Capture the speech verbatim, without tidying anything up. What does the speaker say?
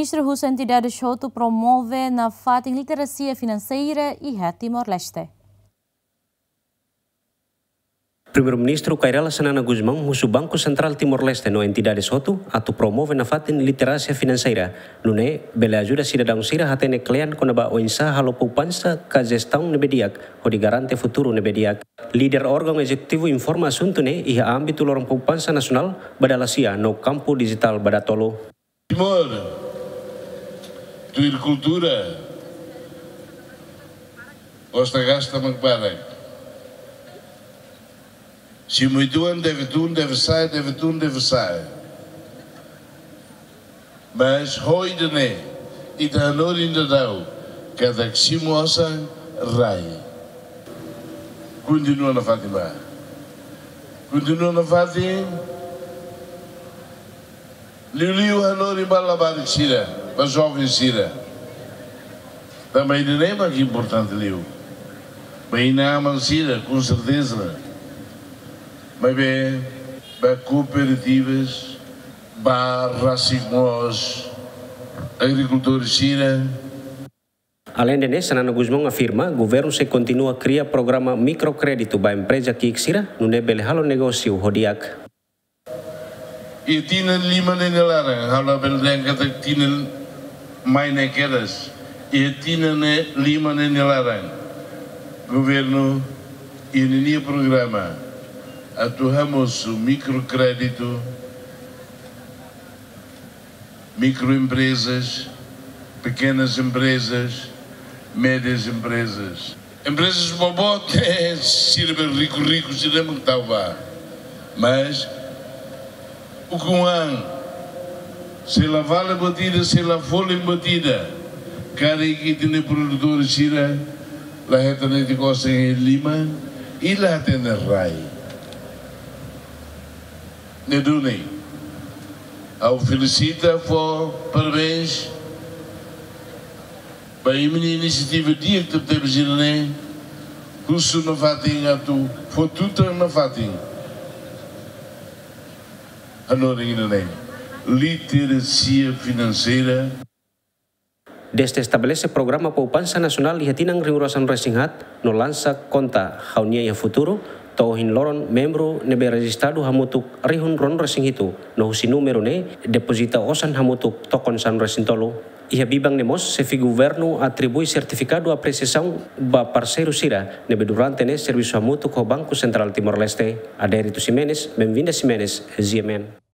Ministru husu entidades hotu promove nafatin literasia finanseira iha Timor-Leste. Primeiru-Ministru Kay Rala Xanana Gusmão husu Banku Sentrál Timor-Leste no entidades hotu atu promove nafatin literasia finanseira, nune'e bele ajuda sidadaun sira hatene kle'an kona-ba oinsá halo poupansa ka jestaun ne'ebé di'ak hodi garante futuru ne'ebé di'ak. Líder órgaun ezekutivu informa asuntu ne'e iha ámbitu loron poupansa nasionál ba dala sia no kampu dijitál ba dala tolu. Timor, tuir kultura, gosta gasta mak barak. Simu uitoan deve tun, deve sa'e, deve tun, deve sa'e. Mas ho ida-ne'e, ita hanorin daudaun, katak simu osan rai. Kontinua nafatin ba. Kontinua nafatin. Liuliu hanorin ba labarik sira, ba joven sira. Tanba ida-ne'e mak importante liu. Ba inan-aman sira, com certeza. Maibé, ba kooperativas, ba rasik mós, agrikultór sira. Aleinde ne'e, Xanana Gusmão afirma, governu sei kontinua kria programa mikrokréditu ba empreza ki'ik sira, nune'e bele halo negósiu ho di'ak. Iha tinan lima ne'e nia laran, ha'u labele dehan katak tinan mai ne'e kedas. Iha tinan ne'e lima ne'e nia laran, governu iha ninia programa atu hamosu mikrokréditu, microempresas, pequenas empresas, médias empresas. Emprezas boboot, sira be riku-riku, sira mak tau ba. Mas ukun an, se la vale buat ida, se la folin buat ida, karik ita-nia produtór sira la hetan netik osan iha liman, i la hatene rai. Ne'e duni, ha'u felisita, fó parabéns ba imi-nia inisiativa di'ak tebetebes ida-ne'e, husu nafatin atu fó tutan nafatin. Hanorin ida-ne'e, literasia finanseira. Dezde estabelese programa poupansa nasionál iha tinan rihun rua sanulu-resin-haat no lansa konta Ha'u-nia Iha Futuru, to'o ohin loron membru ne'ebé rejistadu hamutuk rihun ruanulu-resin-hitu, no husi númeru ne'e depozita osan hamutuk tokon sanulu-resin-tolu. Iha biban ne'e mós, xefe governu atribui sertifikadu apresiasaun ba parseiru sira ne'ebé durante ne'e servisu hamutuk ho Banku Sentrál Timor-Leste. Adérito Ximenes, Benvinda Ximenes, G M N.